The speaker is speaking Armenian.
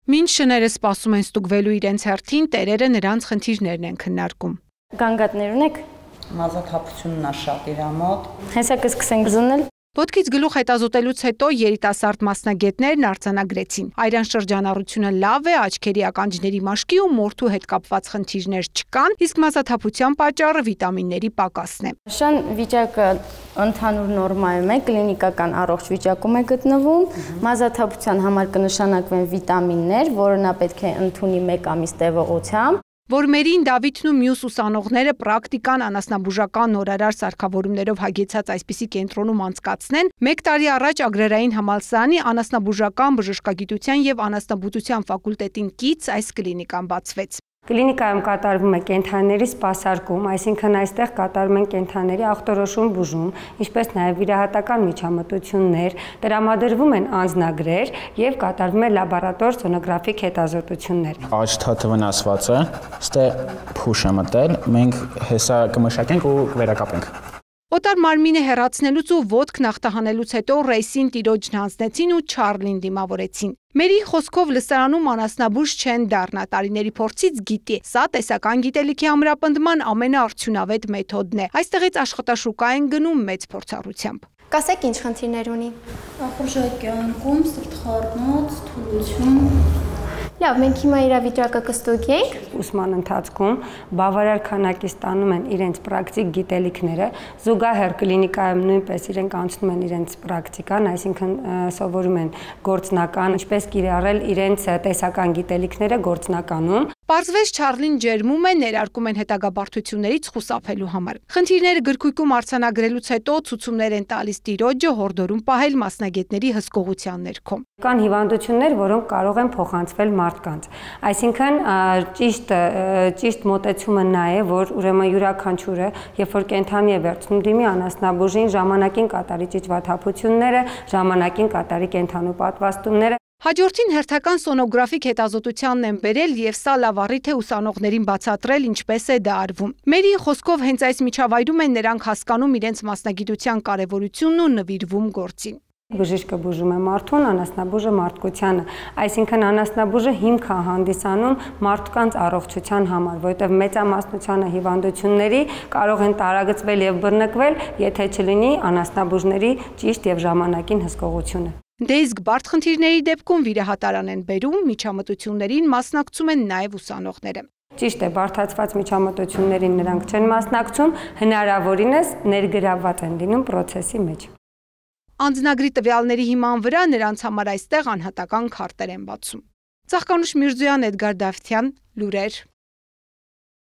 Մինչ շները սպասում են ստուգվելու իրենց հերթին, տերերը նրանց խնդիրներն են քննարկում։ Գանգատներ ունեք։ Մազաթափությունն է շատ իր մոտ։ Հեսա կսկսենք զննել։ Ոտքից գլուխ հետազոտելուց հետո երիտասարդ մասնագետներն արձանագրեցին։ Այրան շրջանառությունը լավ է, աչքերի ականջների մաշկի ու մորթու հետ կապված խնդիրներ չկան, իսկ մազաթափության պատճառը վիտամինների պակասն է։ Շան վիճակը ընդհանուր նորմայում է, կլինիկական առողջ վիճակում է գտնվում։ Մազաթափության համար կնշանակվեն վիտամիններ, որը նա պետք է ընդունի 1 ամիս տևողությամբ։ Որմերին Դավիթն ու մյուս ուսանողները պրակտիկան անասնաբուժական նորարար սարքավորումներով հագեցած այսպիսի կենտրոնում անցկացնեն, 1 տարի առաջ Ագրարային համալսարանի անասնաբուժական բժշկագիտության և անասնաբուծության ֆակուլտետին կից այս կլինիկան բացվեց։ Կլինիկայում կատարվում է կենդանիների սպասարկում, այսինքն այստեղ կատարում են կենդանիների ախտորոշում բուժում, ինչպես նաև վիրահատական միջամտություններ, տրամադրվում են անձնագրեր և կատարվում է լաբորատոր սոնոգրաֆիկ հետազոտություններ։ Աջ թաթը վնասված է, ստեղ փուշ է մտել, մենք հեսա կմշակենք ու կվերակապենք։ Օտար մարմինը հեռացնելուց ու ոտքն ախտահանելուց հետո Ռեյսին տիրոջն հանձնեցին ու Չարլին դիմավորեցին։ Մերի խոսքով լսարանում անասնաբույժ չեն դառնա, տարիների փորձից գիտի։ Սա տեսական գիտելիքի ամրապնդման ամենաարդյունավետ մեթոդն է։ Այստեղից աշխատաշուկա են գնում մեծ փորձառությամբ։ Կասեք ինչ խնդիրներ ունի։ Ախորժակի անկում, սրտխառնոց, թուլություն։ Լավ, մենք հիմա իրավիճակը կստուգենք։ Ուսման ընթացքում բավարար քանակի ստանում են իրենց պրակտիկ գիտելիքները, զուգահեռ կլինիկայում նույնպես իրենք անցնում են իրենց պրակտիկան, այսինքն սովորում են գործնական, ինչպես կիրառել իրենց տեսական գիտելիքները գործնականում։ Պարզվեց Չարլին ջերմում է, ներարկում են հետագա բարդություններից խուսափելու համար։ Խնդիրները գրքույկում արձանագրելուց հետո ցուցումներ են տալիս տիրոջը, հորդորում պահել մասնագետների հսկողության ներքո։ Կան հիվանդություններ, որոնք կարող են փոխանցվել մարդկանց։ Այսինքն ճիշտ մոտեցումը նա է, որ ուրեմն յուրաքանչյուրը, երբ որ կենդանի է վերցնում, դիմի անասնաբուժին, ժամանակին կատարի ճիճվաթափությունները, ժամանակին կատարի կենդանու պատվաստումները։ Հաջորդին հերթական սոնոգրաֆիկ հետազոտությանն են բերել և սա լավ առիթ է ուսանողներին բացատրել ինչպես է դա արվում։ Մերիի խոսքով հենց այս միջավայրում են նրանք հասկանում իրենց մասնագիտության կարևորությունն ու նվիրվում գործին։ Բժիշկը բուժում է մարդուն, անասնաբուժը մարդկությանը, այսինքն անասնաբուժը հիմք է հանդիսանում մարդկանց առողջության համար, որովհետև մեծամասնությանը հիվանդությունների կարող են տարագծվել և բռնկվել, եթե չլինի անասնաբուժների ճիշտ և ժամանակին հսկողությունը։ Դե իսկ բարդ խնդիրների դեպքում վիրահատարան են բերում, միջամտություններին մասնակցում են նաև ուսանողները։ Ճիշտ է, բարդացված միջամտություններին նրանք չեն մասնակցում, հնարավորինս ներգրավված են լինում պրոցեսի մեջ։ Անձնագրի տվյալների հիման վրա նրանց համար այստեղ անհատական քարտեր են բացում։ Ծաղկանուշ Միրզոյան, Էդգար Դավթյան, լուրեր։